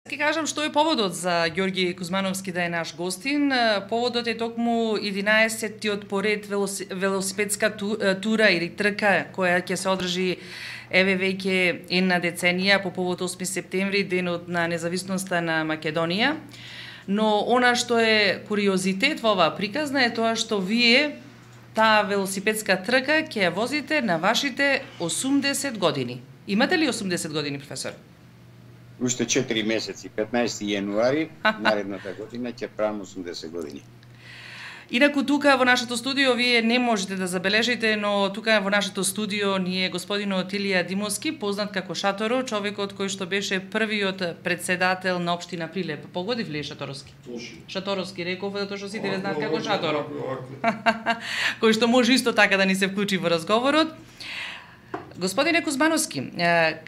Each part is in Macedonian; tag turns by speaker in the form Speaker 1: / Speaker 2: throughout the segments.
Speaker 1: Ке кажам што е поводот за Ѓорги Кузмановски да е наш гостин. Поводот е токму 11-тиот поред велосипедска тура или трка која ќе се одржи еве веќе една деценија по повод 8 септември, денот на независноста на Македонија. Но она што е куриозитет во оваа приказна е тоа што вие таа велосипедска трка ќе ја возите на вашите 80 години. Имате ли 80 години, професор?
Speaker 2: Уште 4 месеци, 15 јануари, наредната година ќе правам 80 години.
Speaker 1: Инаку тука во нашето студио вие не можете да забележите, но тука во нашето студио ни е господинот Илија Димовски, познат како Шаторо, човекот кој што беше првиот председател на општина Прилеп. Погодив ли Шаторовски? Шаторовски реков, затоа што сите ве знаат како Шаторо. Кој што може исто така да ни се вклучи во разговорот. Господине Кузмановски,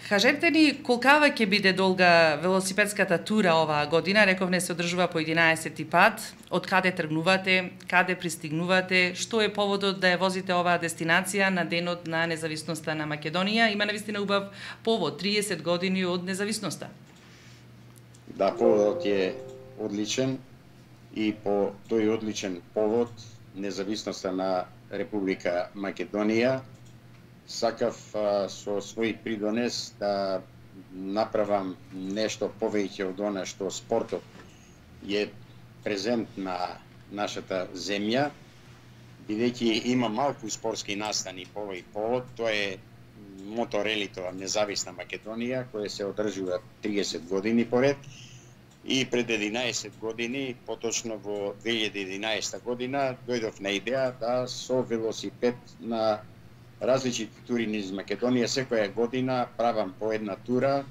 Speaker 1: кажете ни колкава ќе биде долга велосипедската тура оваа година? Рековне се одржува по 11 пат. Од каде тргнувате, каде пристигнувате, што е поводот да ја возите оваа дестинација на денот на независноста на Македонија? Има навистина убав повод, 30 години од независноста.
Speaker 2: Да, поводот е одличен и по тој одличен повод независноста на Република Македонија сакав со свој придонес да направам нешто повеќе од она што спортот е презент на нашата земја, бидејќи има малку спортски настани по овој повод. Тоа е моторелито Независна Македонија, која се одржува 30 години поред. И пред 11 години, поточно во 2011 година, дојдов на идеја да со велосипед на различити тури низ Македонија секоја година правам по една тура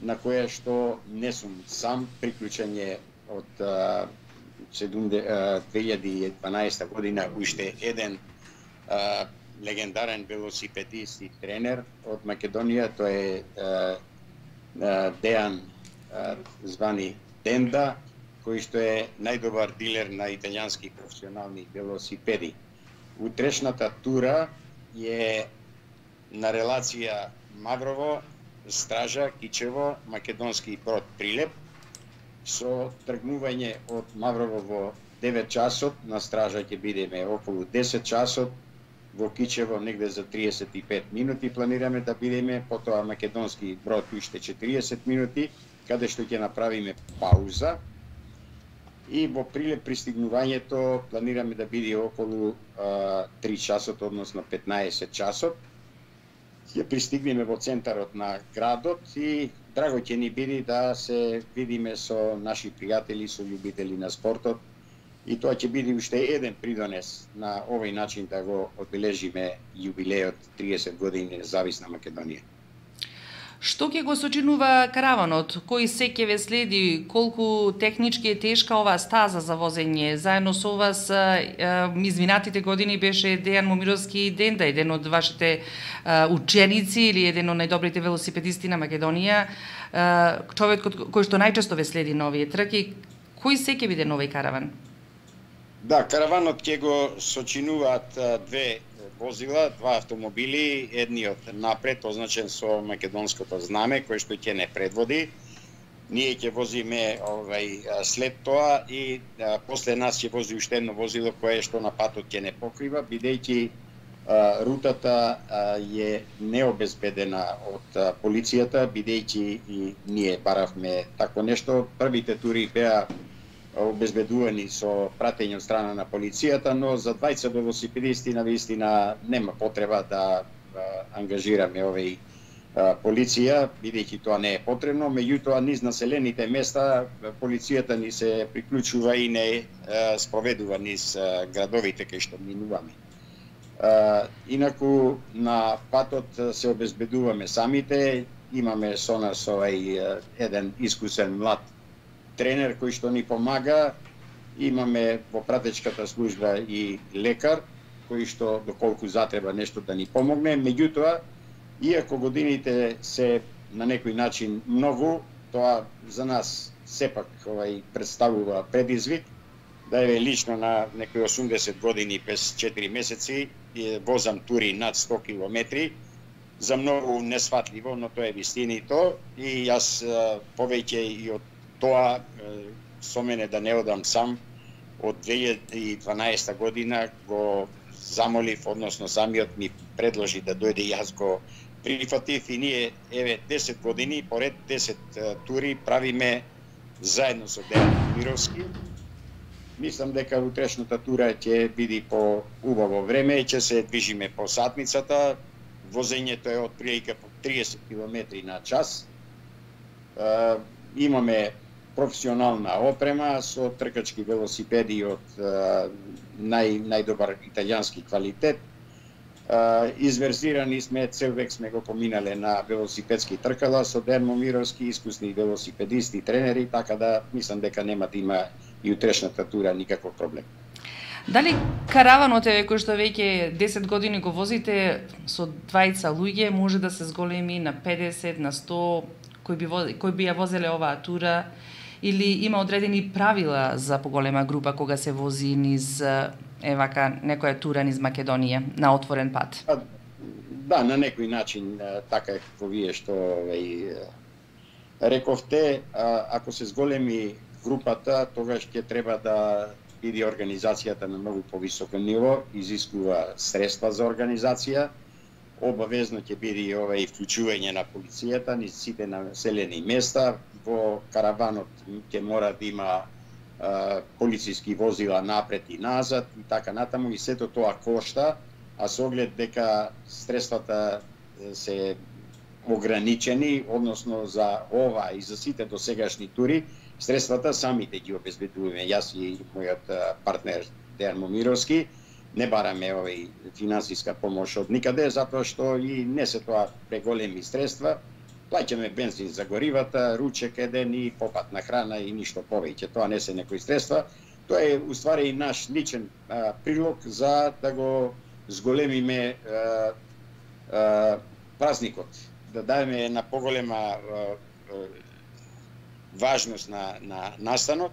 Speaker 2: на која што не сум сам. Приклучен е од 2012 година уште еден легендарен велосипедист и тренер од Македонија, тоа е Дејан звани Денда, кој што е најдобар дилер на италијански професионални велосипеди. Утрешната тура е на релација Маврово, Стража, Кичево, Македонски Брод, Прилеп, со тргнување од Маврово во 9 часот, на Стража ќе бидеме околу 10 часот, во Кичево негде за 35 минути планираме да бидеме, потоа Македонски Брод уште 40 минути, каде што ќе направиме пауза. И во Прилеп пристигнувањето планираме да биде околу 3 часот, односно 15 часот. Ќе пристигнеме во центарот на градот и драго ќе ни биде да се видиме со наши пријатели, со љубители на спортот. И тоа ќе биде уште еден придонес на овој начин да го одбележиме јубилејот 30 години независна Македонија.
Speaker 1: Што ќе го сочинува караванот? Кој се ќе ве следи? Колку технички е тешка оваа стаза за возење? Заедно со вас изминатите години беше Дејан Момировски и Денда, еден од вашите ученици или еден од најдобрите велосипедисти на Македонија, човекот кој што најчесто ве следи на овие трки. Кој се ќе биде новој караван?
Speaker 2: Да, караванот ќе го сочинуваат две возила, два автомобили, едниот напред означен со македонското знаме кој што ќе не предводи. Ние ќе возиме след тоа и после нас ќе вози уште едно возило кое што на патот ќе не покрива, бидејќи рутата е необезбедена од полицијата, бидејќи и ние баравме тако нешто. Првите тури беа обезбедувани со пратење од страна на полицијата, но за двајца велосипедисти навистина нема потреба да ангажираме овој полиција, бидејќи тоа не е потребно. Меѓутоа, низ населените места полицијата ни се приклучува и не споведува низ градовите кај што минуваме. Инаку на патот се обезбедуваме самите, имаме со нас еден искусен млад тренер кој што ни помага, имаме во пратечката служба и лекар кој што доколку затреба нешто да ни помогне. Меѓутоа, иако годините се на некој начин многу, тоа за нас сепак представува предизвик, да е лично на некои 80 години без 4 месеци возам тури над 100 километри, за многу несватливо, но тоа е вистинито и јас повеќе и од тоа со мене да не одам сам од 2012 година го замолив, односно самиот ми предложи да дојде, јас го прифатив и ние еве 10 години, поред 10 тури правиме заедно со Дејан Мировски. Мислам дека утрешната тура ќе биде по убаво време и ќе се движиме по сатницата. Возењето е од прилика по 30 км на час. Имаме професионална опрема со тркачки велосипеди од најдобар италијански квалитет. Изверзирани сме, цел век сме го поминале на велосипедски тркала со Дејан Момировски, искусни велосипедисти, тренери, така да мислам дека нема да има и утрешната тура никаков проблем.
Speaker 1: Дали караванот кој што веќе 10 години го возите со двајца луѓе може да се зголеми на 50, на 100 кои би ја возеле оваа тура, или има одредени правила за поголема група кога се вози низ вака некоја тура низ Македонија на отворен пат?
Speaker 2: Да, на некој начин така како вие што рековте, ако се зголеми групата, тогаш ќе треба да биде организацијата на многу повисоко ниво, изискува средства за организација, обавезно ќе биде и вклучување на полицијата низ сите населени места, во караванот ќе мора да има полициски возила напред и назад и така натаму, и сето тоа кошта, а со оглед дека средствата се ограничени, односно за ова и за сите досегашни тури, средствата самите ги обезбедуваме. Јас и мојот партнер Дејан Момировски не бараме финансиска помош од никаде, затоа што и не се тоа преголеми средства. Плаќаме бензин за горивата, ручек еден и попатна храна и ништо повеќе. Тоа не се некои средства. Тоа е уствари и наш личен прилог за да го зголемиме празникот, да дадеме на поголема важност на настанот,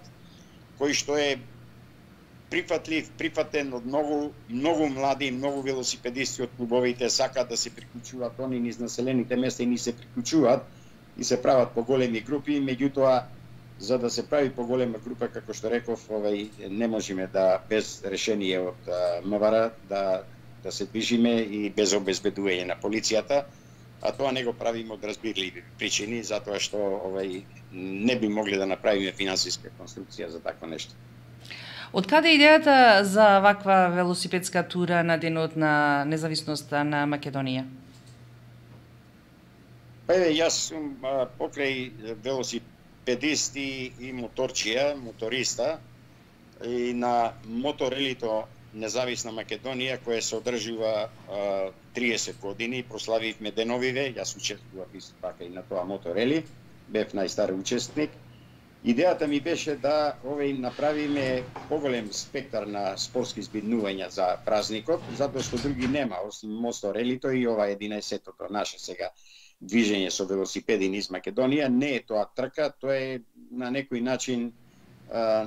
Speaker 2: кој што е прифатен од многу млади, многу велосипедисти од клубовите, сакаат да се приклучуваат они низ населените места и ни се приклучуваат и се прават поголеми групи, меѓутоа за да се прави поголема група, како што реков, не можеме да без решение од МВР да се движиме и без обезбедување на полицијата, а тоа не го правиме од разбирливи причини, затоа што не би могли да направиме финансиска конструкција за такво нешто.
Speaker 1: Од каде идејата за ваква велосипедска тура на денот на независноста на Македонија?
Speaker 2: Па јас сум покрај велосипедисти и моториста и на моторелито Независна Македонија, која се одржува 30 години, прославивме деновиве, јас учествував исто така и на тоа моторели, бев најстар учесник. Идејата ми беше да направиме поголем спектар на спортски збиднувања за празникот, затоа што други нема, освен моторелито и ова 11-тото наше сега движење со велосипеди низ Македонија. Не е тоа трка, тоа е на некој начин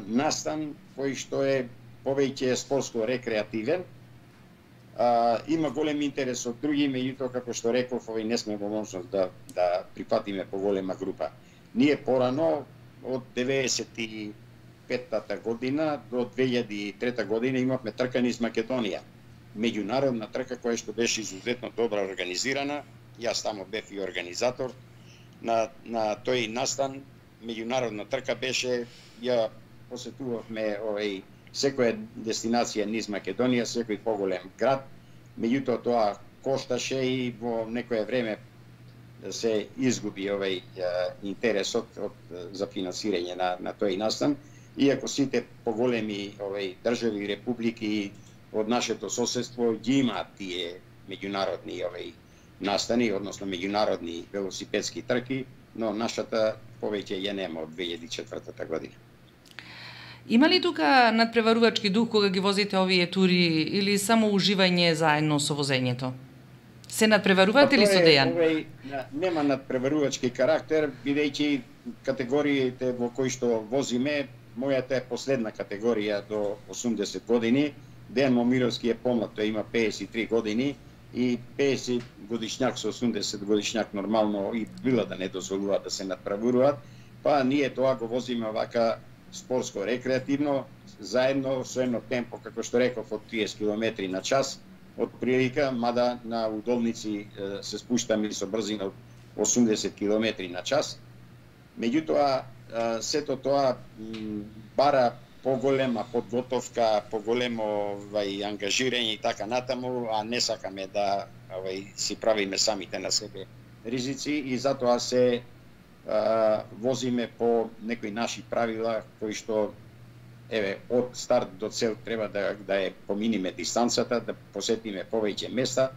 Speaker 2: настан кој што е повеќе спортско-рекреативен. Има голем интерес од други, меѓутоа, како што реков, не сме во можност да прифатиме поголема група. Ние порано, од 95-та година до 2003 година имавме трка низ Македонија. Меѓународна трка која што беше изузетно добро организирана. Јас тамо бев и организатор на тој настан. Меѓународна трка беше, ја посетувавме секоја дестинација низ Македонија, секој поголем град, меѓутоа тоа кошташе и во некое време се изгуби интересот за финансирање на тој настан, иако сите поголеми држави и републики од нашето соседство ги имаат тие меѓународни настани, односно меѓународни велосипедски трки, но нашата повеќе ја нема од 2004 година.
Speaker 1: Има ли тука надпреварувачки дух кога ги возите овие тури или само уживање заедно со возењето? Се надпреварувате ли со Дејан?
Speaker 2: Нема надпреварувачки карактер, бидејќи категориите во кои што возиме, мојата е последна категорија до 80 години, Дејан Момировски е помлад, тој има 53 години и 50 годишњак со 80 годишњак нормално и била да не дозволуваат да се надправуваат, па ние тоа го возиме вака спортско рекреативно заедно со едно темпо како што реков од 30 км на час од прилика, мада на удолници се спуштаме со брзина од 80 км на час. Меѓутоа сето тоа бара поголема подготовка, поголемо ангажирање и така натаму, а не сакаме да си правиме самите на себе ризици и затоа се возиме по некои наши правила кои што од старт до цел треба да ја поминиме дистанцата, да посетиме повеќе места,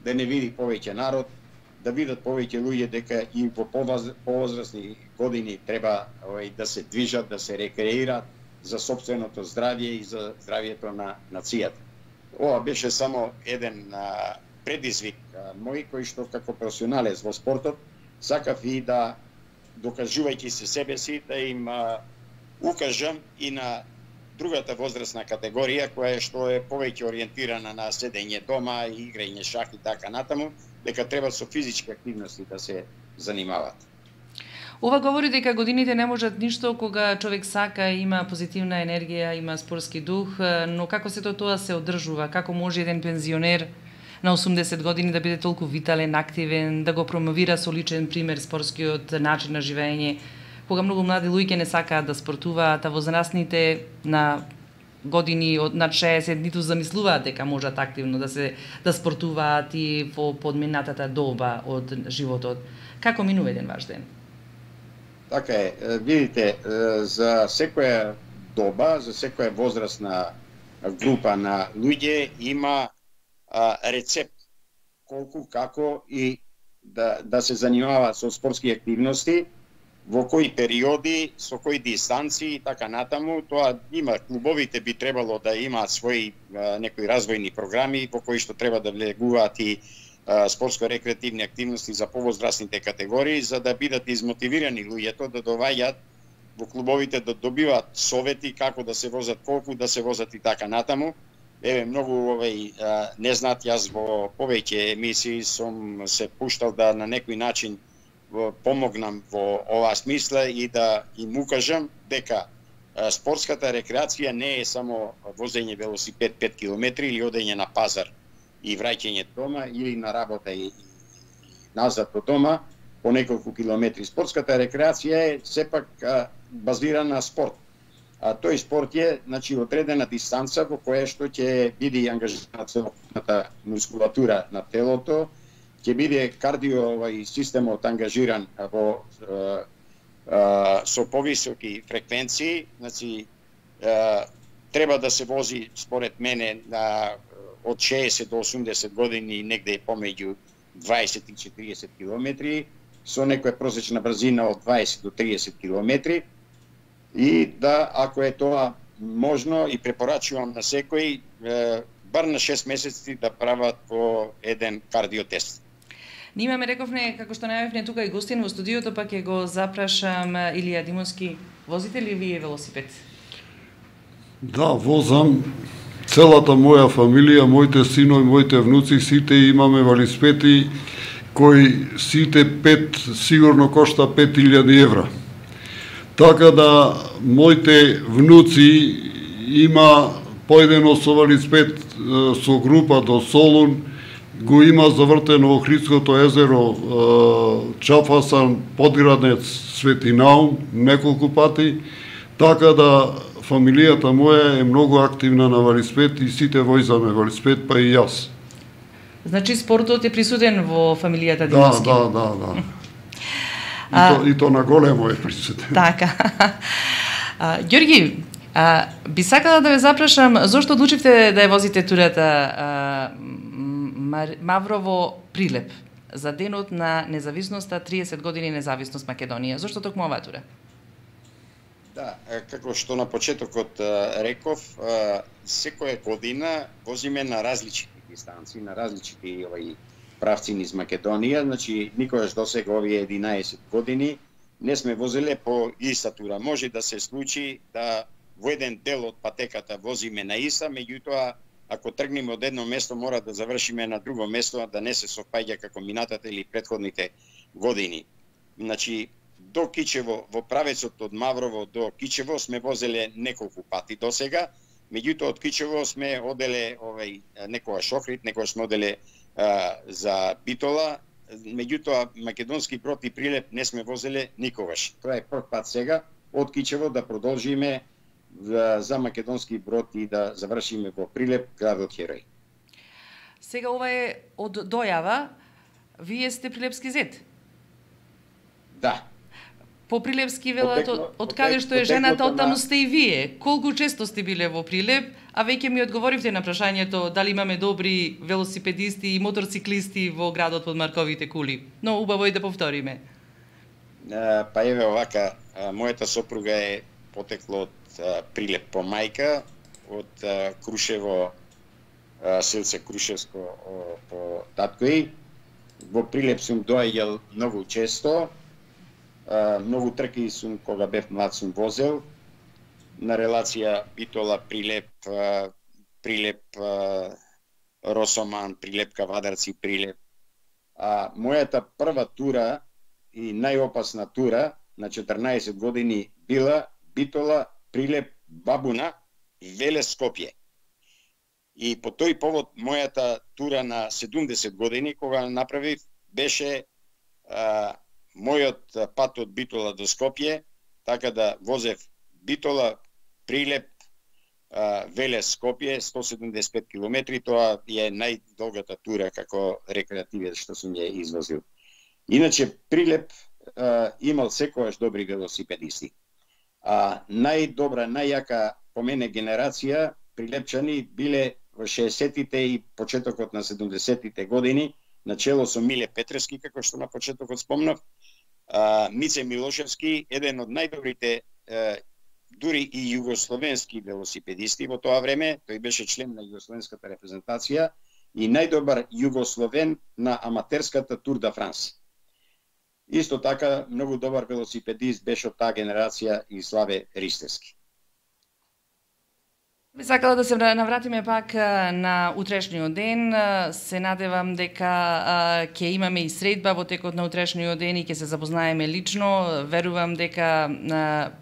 Speaker 2: да не види повеќе народ, да видат повеќе луѓе дека и во повозрасни години треба да се движат, да се рекреираат за сопственото здравје и за здравјето на нацијата. Ова беше само еден предизвик мој кој што како професионалец во спортот сакав и да докажувајќи се себе си да им укажам и на другата возрастна категорија која што е повеќе ориентирана на седење дома и играње шах и така натаму, дека треба со физички активности да се занимаваат.
Speaker 1: Ова говори дека годините не можат ништо кога човек сака, има позитивна енергија, има спортски дух, но како сето тоа се одржува? Како може еден пензионер на 80 години да биде толку витален, активен, да го промовира со личен пример спортскиот начин на живење, кога многу млади луѓе не сакаат да спортуваат, а возрастните на години над 60 ниту замислуваат дека можат активно да спортуваат и во подминатата доба од животот. Како минува еден ваш ден?
Speaker 2: Така е, видите, за секоја доба, за секоја возрастна група на луѓе има рецепт колку, како и да се занимаваат со спортски активности, во кои периоди, со кои дистанции и така натаму. Тоа има, клубовите би требало да имаат своји некои развојни програми во кои што треба да влегуваат и спортско-рекреативни активности за повозрастните категории, за да бидат измотивирани луѓето да доваѓаат во клубовите, да добиваат совети како да се возат, колку да се возат и така натаму. Еве, многу не знаат, јас во повеќе емисии сум се пуштал да на некој начин помогнам во оваа смисла и да им укажам дека спортската рекреација не е само возење велосипед 5 км или одење на пазар и враќање дома или на работа и назад од дома по неколку километри. Спортската рекреација е сепак базирана на спорт. А тој спорт е, значи, одредена дистанца во која што ќе биде ангажирана целокупната мускулатура на телото, ќе биде кардио системот ангажиран со повисоки фреквенции, значи треба да се вози според мене од 60 до 80 години негде помеѓу 20 и 40 км, со некоја просечна брзина од 20 до 30 км. И да, ако е тоа можно, и препорачувам на секој, бар на 6 месеци да прават по еден кардиотест.
Speaker 1: Ние имаме, рековме, како што најавивме тука и гостин во студиото, па ќе го запрашам Илија Димовски. Возите ли вие велосипед?
Speaker 3: Да, возам. Целата моја фамилија, моите синови, моите внуци, сите имаме велосипеди кои сите 5 сигурно кошта 5000 евра. Така да моите внуци има поедено со велосипед со група до Солун, го има завртено Охридското езеро, Чафасан, Подграднец, Светинаум, неколку пати, така да фамилијата моја е многу активна на велосипед и сите возиме велосипед, па и јас.
Speaker 1: Значи спортот е присутен во фамилијата Димовски?
Speaker 3: Да. И то на големо е присутен.
Speaker 1: Така. Ѓорги, би сакала да ве запрашам, зошто одлучивте да ја возите турата Маврово-Прилеп за денот на независноста, 30 години независност Македонија? Зошто токму оваа тура?
Speaker 2: Да, како што на почетокот реков, секоја година возиме на различити дистанции, на различити правци низ Македонија, значи никогаш досега овие 11 години не сме возеле по иста тура. Може да се случи да во еден дел од патеката возиме на иста, меѓутоа ако тргнеме од едно место, мора да завршиме на друго место, да не се совпаѓа како минатата или претходните години. Значи, до Кичево, во правецот од Маврово до Кичево сме возеле неколку пати до сега, меѓутоа од Кичево сме оделе некогаш Охрид, некогаш сме оделе за Битола, меѓутоа македонски брод и Прилеп не сме возеле никогаш. Тоа е прв пат сега од Кичево да продолжиме за македонски брод и да завршиме во Прилеп, градот Херој.
Speaker 1: Сега ова е од дојава. Вие сте прилепски зет?
Speaker 2: Да.
Speaker 1: По Прилепски велат, од каде што е жената, оттаму сте и вие. Колку често сте биле во Прилеп, а веќе ми одговоривте на прашањето дали имаме добри велосипедисти и моторциклисти во градот под Марковите кули. Но убаво и да повториме.
Speaker 2: Па еве овака, мојата сопруга е потекло од Прилеп по мајка, од Крушево, селце Крушевско по татко. Во Прилеп сум доаѓал многу често. Многу трки сум кога бев млад сум возел на релација Битола Прилеп, Прилеп Росоман, Прилеп Кавадарци, Прилеп. Мојата прва тура и најопасна тура на 14 години била Битола, Прилеп, Бабуна, Велес, Скопје. И по тој повод мојата тура на 70 години кога направив беше мојот пат од Битола до Скопје, така да возев Битола, Прилеп, Велес, Скопје, 175 километри, тоа е најдолгата тура како рекреативен што сум ја извозил. Иначе Прилеп имал секогаш добри велосипедисти. Најдобра, најјака по мене генерација прилепчани биле во 60-тите и почетокот на 70-тите години, начело со Миле Петревски, како што на почетокот спомнав, Мице Милошевски, еден од најдобрите дури и југословенски велосипедисти во тоа време, тој беше член на југословенската репрезентација и најдобар југословен на аматерската Тур де Франс. Исто така, многу добар велосипедист беше од таа генерација и Славе Ристевски.
Speaker 1: Би сакала да се навратиме пак на утрешниот ден. Се надевам дека ќе имаме и средба во текот на утрешниот ден и ќе се запознаеме лично. Верувам дека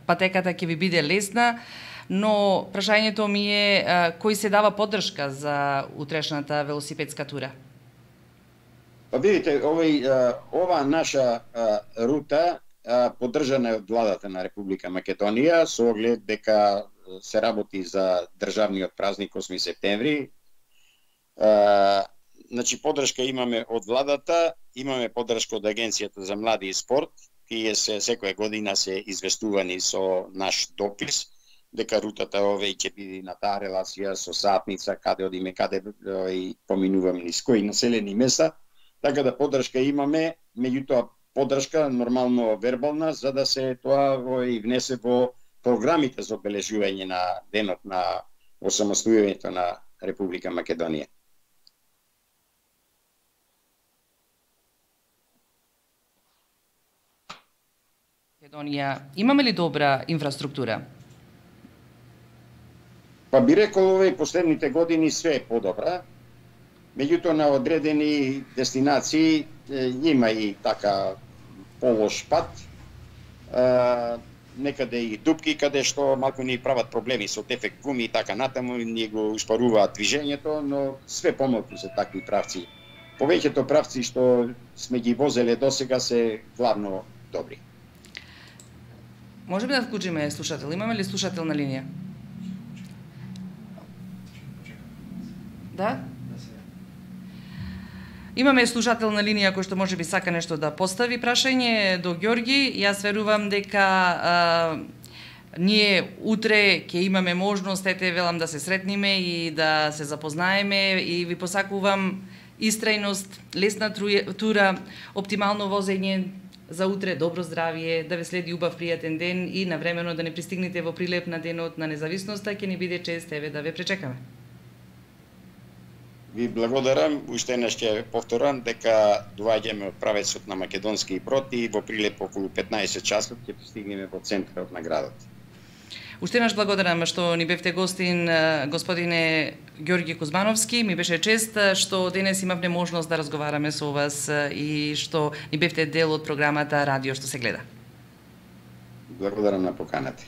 Speaker 1: патеката ќе ви биде лесна, но прашањето ми е кој се дава поддршка за утрешната велосипедска тура?
Speaker 2: Па видите, ова наша рута поддржана е од владата на Република Македонија со оглед дека се работи за државниот празник 8 септември. Значи, поддршка имаме од владата, имаме поддршка од Агенцијата за млади и спорт, тие секоја година се известувани со наш допис, дека рутата ќе биде на таа релација со сатница, каде одиме, каде поминуваме низ кои населени места, така да поддршка имаме, меѓутоа поддршка нормално вербална, за да се тоа и внесе во програмите за обележување на денот на осамостојувањето на Република Македонија.
Speaker 1: Македонија, имаме ли добра инфраструктура?
Speaker 2: Па би рекол, последните години све е подобра. Меѓутоа на одредени дестинации има и така полош пат. Некаде и дупки каде што малку ни прават проблеми со дефект гуми и така натаму, ни го успоруваат движењето, но све помалку се такви правци. Повеќето правци што сме ги возеле досега се главно добри.
Speaker 1: Може би да вклучиме слушател? Имаме ли слушател на линија? Да? Имаме слушател на линија кој што може би сака нешто да постави прашање до Ѓорги. Јас верувам дека ние утре ќе имаме можност, велам, да се сретниме и да се запознаеме и ви посакувам истрајност, лесна тура, оптимално возење за утре, добро здравје, да ве следи убав пријатен ден и навремено да не пристигнете во Прилеп на денот на независноста, ќе ни биде чест да ве пречекаме.
Speaker 2: Ви благодарам, уште еднаш ќе повторам дека доаѓаме од правецот на македонски брод и во Прилеп околу 15 часот ќе пристигнеме во центарот на градот.
Speaker 1: Уште еднаш благодарам што ни бевте гостин, господине Ѓорги Кузмановски. Ми беше чест што денес имавме можност да разговараме со вас и што ни бевте дел од програмата Радио што се гледа.
Speaker 2: Благодарам на поканата.